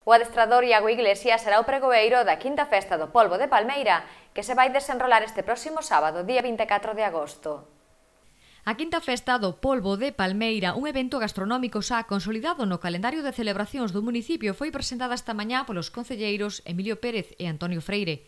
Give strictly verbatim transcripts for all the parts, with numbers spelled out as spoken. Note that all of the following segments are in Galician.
O adestrador Iago Iglesias será o pregoeiro da quinta festa do polvo de Palmeira, que se vai desenrolar este próximo sábado, día vinte e catro de agosto. A quinta festa do polvo de Palmeira, un evento gastronómico xa consolidado no calendario de celebracións do municipio, foi presentada esta mañá polos concelleiros Emilio Pérez e Antonio Freire.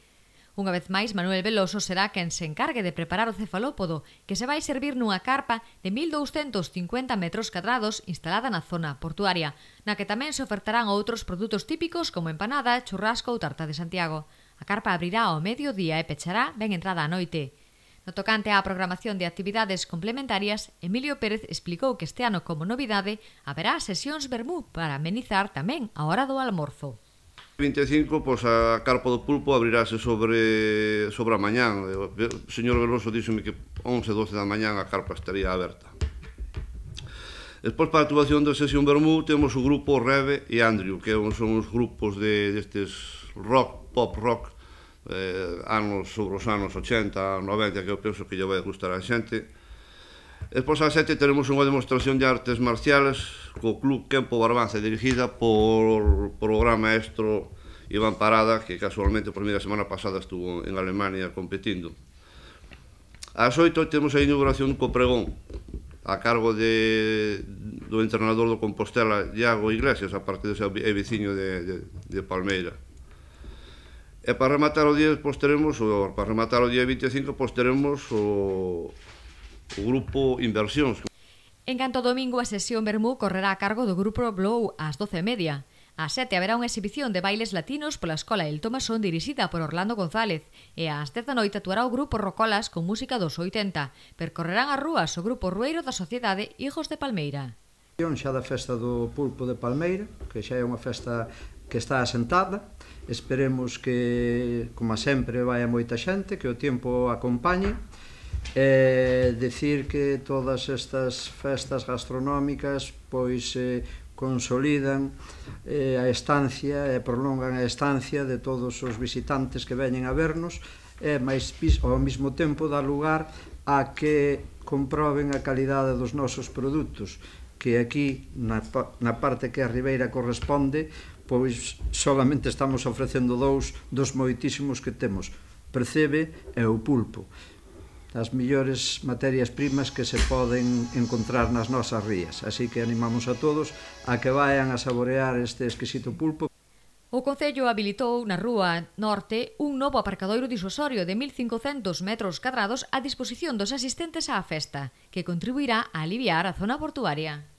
Unha vez máis, Manuel Veloso será quen se encargue de preparar o cefalópodo, que se vai servir nunha carpa de mil douscentos cincuenta metros cadrados instalada na zona portuaria, na que tamén se ofertarán outros produtos típicos como empanada, churrasco ou tarta de Santiago. A carpa abrirá ao mediodía e pechará ben entrada a noite. No tocante á programación de actividades complementarias, Emilio Pérez explicou que este ano, como novidade, haberá sesións vermú para amenizar tamén a hora do almorzo. vinte e cinco, pois a carpa do pulpo abrirase sobre, sobre a mañán. O señor Veloso díxome que once, doce da mañán a carpa estaría aberta. Despois, para a actuación da sesión vermú, temos o grupo Reve e Andrew, que son os grupos de, destes rock, pop rock, eh, anos sobre os anos ochenta, noventa, que eu penso que lle vai gustar a xente. Despois, ás sete, teremos unha demostración de artes marciales co Club Kempo Barbanza, dirigida por o gran maestro Iván Parada, que casualmente por mí a semana pasada estuvo en Alemania competindo. Ás oito temos a inauguración co pregón, a cargo de, do entrenador do Compostela, Iago Iglesias, a parte de ser veciño de, de, de Palmeira. E para rematar o día, pois teremos, o, para rematar o día vinte e cinco, pois teremos o, o grupo Inversións. En canto domingo, a sesión vermú correrá a cargo do grupo Blow ás doce e media. Ás sete haberá unha exhibición de bailes latinos pola Escola El Tomasón dirixida por Orlando González e ás dez da noite actuará o grupo Rocolas con música dos oitenta. Percorrerán as rúas o grupo rueiro da Sociedade Hijos de Palmeira. Xa da festa do pulpo de Palmeira, que xa é unha festa que está asentada. Esperemos que, como sempre, vai moita xente, que o tempo acompañe. E decir que todas estas festas gastronómicas pois eh, consolidan eh, a estancia e prolongan a estancia de todos os visitantes que veñen a vernos e máis, ao mesmo tempo dá lugar a que comproben a calidade dos nosos produtos, que aquí na, na parte que a Ribeira corresponde pois solamente estamos ofrecendo dous dos moitísimos que temos, percebe e o pulpo, as millores materias primas que se poden encontrar nas nosas rías. Así que animamos a todos a que vayan a saborear este exquisito pulpo. O Concello habilitou na Rúa Norte un novo aparcadoiro disuasorio de mil cincocentos metros cadrados a disposición dos asistentes á festa, que contribuirá a aliviar a zona portuaria.